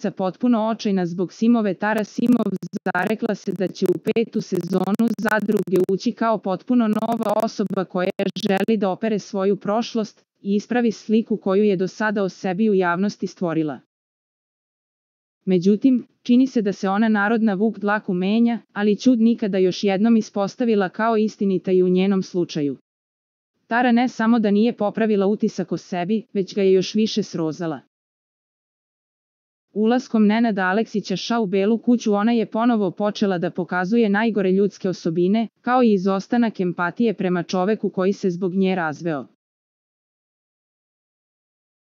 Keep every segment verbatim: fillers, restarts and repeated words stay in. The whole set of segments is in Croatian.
glumica potpuno očajna zbog Simove. Tara Simov zarekla se da će u petu sezonu Zadruge ući kao potpuno nova osoba koja želi da opere svoju prošlost i ispravi sliku koju je do sada o sebi u javnosti stvorila. Međutim, čini se da se ona narodna vuk dlaku menja, ali ćud nikada još jednom ispostavila kao istinita i u njenom slučaju. Tara ne samo da nije popravila utisak o sebi, već ga je još više srozala. Ulaskom Nenada Aleksića u Belu kuću ona je ponovo počela da pokazuje najgore ljudske osobine, kao i izostanak empatije prema čoveku koji se zbog nje razveo.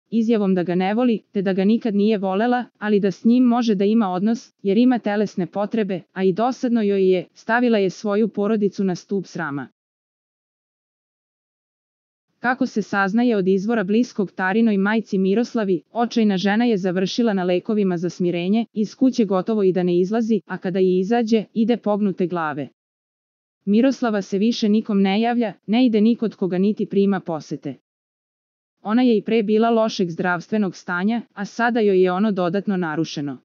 Izjavom da ga ne voli, te da ga nikad nije volela, ali da s njim može da ima odnos, jer ima telesne potrebe, a i dosadno joj je, stavila je svoju porodicu na stub srama. Kako se saznaje od izvora bliskog Tarinoj majci Miroslavi, očajna žena je završila na lekovima za smirenje, iz kuće gotovo i da ne izlazi, a kada i izađe, ide pognute glave. Miroslava se više nikom ne javlja, ne ide ni kod koga niti prima posete. Ona je i pre bila lošeg zdravstvenog stanja, a sada joj je ono dodatno narušeno.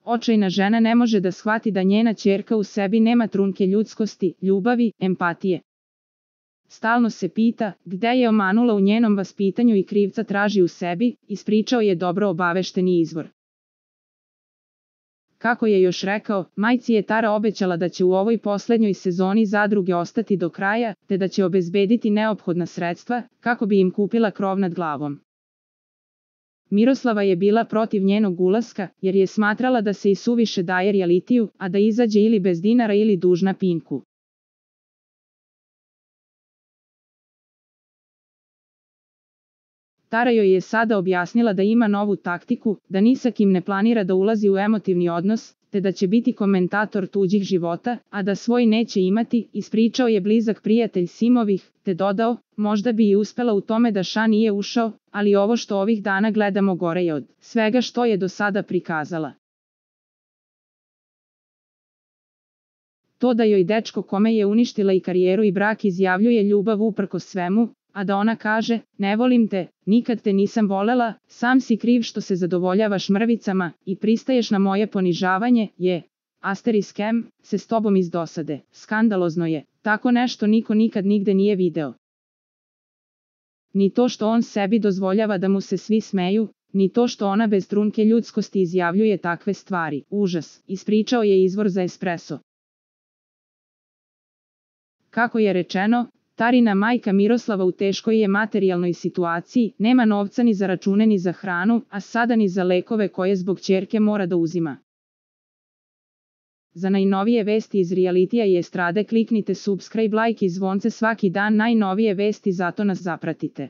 Očajna žena ne može da shvati da njena ćerka u sebi nema trunke ljudskosti, ljubavi, empatije. Stalno se pita, gde je omanula u njenom vaspitanju i krivca traži u sebi, ispričao je dobro obavešteni izvor. Kako je još rekao, majci je Tara obećala da će u ovoj poslednjoj sezoni Zadruge ostati do kraja, te da će obezbediti neophodna sredstva, kako bi im kupila krov nad glavom. Miroslava je bila protiv njenog ulaska, jer je smatrala da se i suviše daje realitiju, a da izađe ili bez dinara ili dužna Pinku. Tara joj je sada objasnila da ima novu taktiku, da ni sa kim ne planira da ulazi u emotivni odnos, te da će biti komentator tuđih života, a da svoj neće imati, ispričao je blizak prijatelj Simovih, te dodao, možda bi i uspela u tome da Ša nije ušao, ali ovo što ovih dana gledamo gore je od svega što je do sada prikazala. To da joj dečko kome je uništila i karijeru i brak izjavljuje ljubav uprkos svemu, a da ona kaže, ne volim te, nikad te nisam volela, sam si kriv što se zadovoljavaš mrvicama i pristaješ na moje ponižavanje, je, asteriskem, se s tobom iz dosade, skandalozno je, tako nešto niko nikad nigde nije video. Ni to što on sebi dozvoljava da mu se svi smeju, ni to što ona bez trunke ljudskosti izjavljuje takve stvari, užas, ispričao je izvor za Espresso. Kako je rečeno, Tarina majka Miroslava u teškoj je materijalnoj situaciji, nema novca ni za račune ni za hranu, a sada ni za lekove koje zbog ćerke mora da uzima. Za najnovije vesti iz realitija i estrade kliknite subscribe, like i zvonce svaki dan, najnovije vesti, zato nas zapratite.